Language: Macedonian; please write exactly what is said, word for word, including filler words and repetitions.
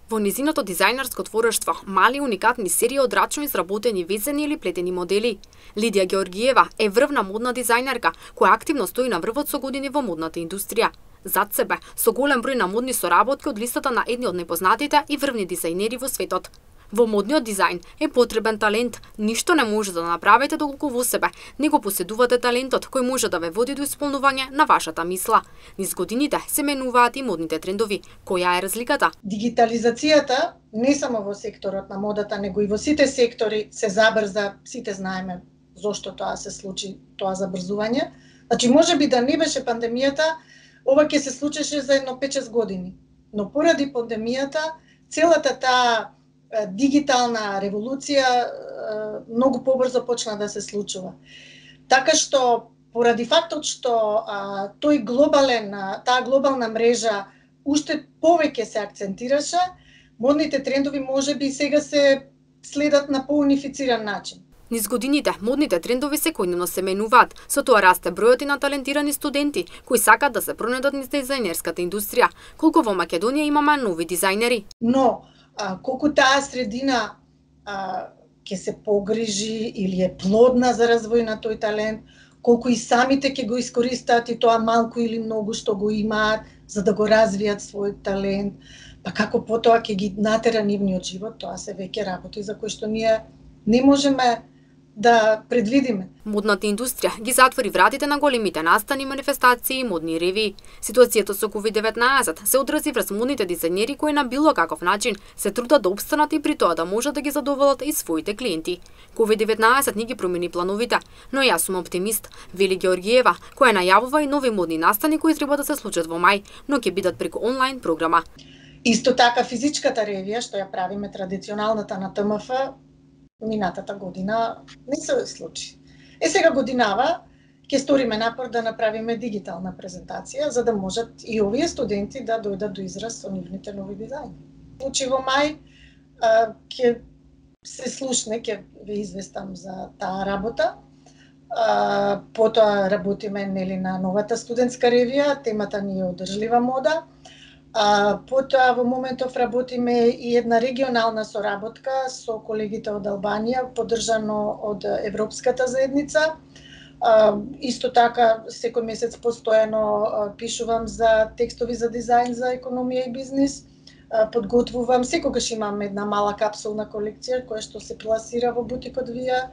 Во низиното дизајнерско творештво, мали уникатни серии од рачно изработени везени или плетени модели. Лидија Георгиева е врвна модна дизајнерка која активно стои на врвот со години во модната индустрија. Зад себе, со голем број на модни соработки од листата на едни од најпознатите и врвни дизајнери во светот. Во модниот дизајн е потребен талент. Ништо не може да направите доколку во себе не го поседувате талентот кој може да ве води до исполнување на вашата мисла. Низ годините се менуваат и модните трендови. Која е разликата? Дигитализацијата не само во секторот на модата, него и во сите сектори се забрза. Сите знаеме зошто тоа се случи, тоа забрзување. Значи, можеби да не беше пандемијата, ова ќе се случеше за едно пет-шест години. Но поради пандемијата, целата таа дигитална револуција многу побрзо почна да се случува. Така што, поради фактот што а, тој глобален, таа глобална мрежа уште повеќе се акцентираше, модните трендови можеби сега се следат на поунифициран начин. Низ годините, модните трендови секојдневно се менуваат, со тоа расте бројот и на талентирани студенти кои сакаат да се пронедат низ дизајнерската индустрија. Колку во Македонија имаме нови дизајнери. Но А, колку таа средина а, ќе се погрижи или е плодна за развој на тој талент, колку и самите ќе го искористат и тоа малку или многу што го имаат за да го развијат својот талент, па како потоа ќе ги натера нивниот живот, тоа се веќе работи за кои што ние не можеме да предвидиме. Модната индустрија ги затвори вратите на големите настани, манифестации и модни ревии. Ситуацијата со ковид деветнаесет се одрази врз модните дизајнери кои на било каков начин се трудат да опстанат и при тоа да можат да ги задоволат и своите клиенти. ковид деветнаесет не ги промени плановите, но јас сум оптимист, вели Георгиева, која најавува и нови модни настани кои треба да се случат во мај, но ќе бидат преку онлайн програма. Исто така физичката ревија што ја правиме традиционалната на Т М Ф минатата година не се случи. Е сега годинава ќе сториме напор да направиме дигитална презентација за да можат и овие студенти да дојдат до израз со нивните нови дизајни. Случи во мај ќе се слушне, ќе ве известам за таа работа. А, потоа работиме нели на новата студентска ревија, темата ни е одржлива мода. А, потоа во моментов работиме и една регионална соработка со колегите од Албанија, поддржано од Европската заедница. А, исто така, секој месец постојано а, пишувам за текстови за дизајн за економија и бизнис. А, подготвувам, секогаш имам една мала капсулна колекција која што се пласира во бутикот Вија.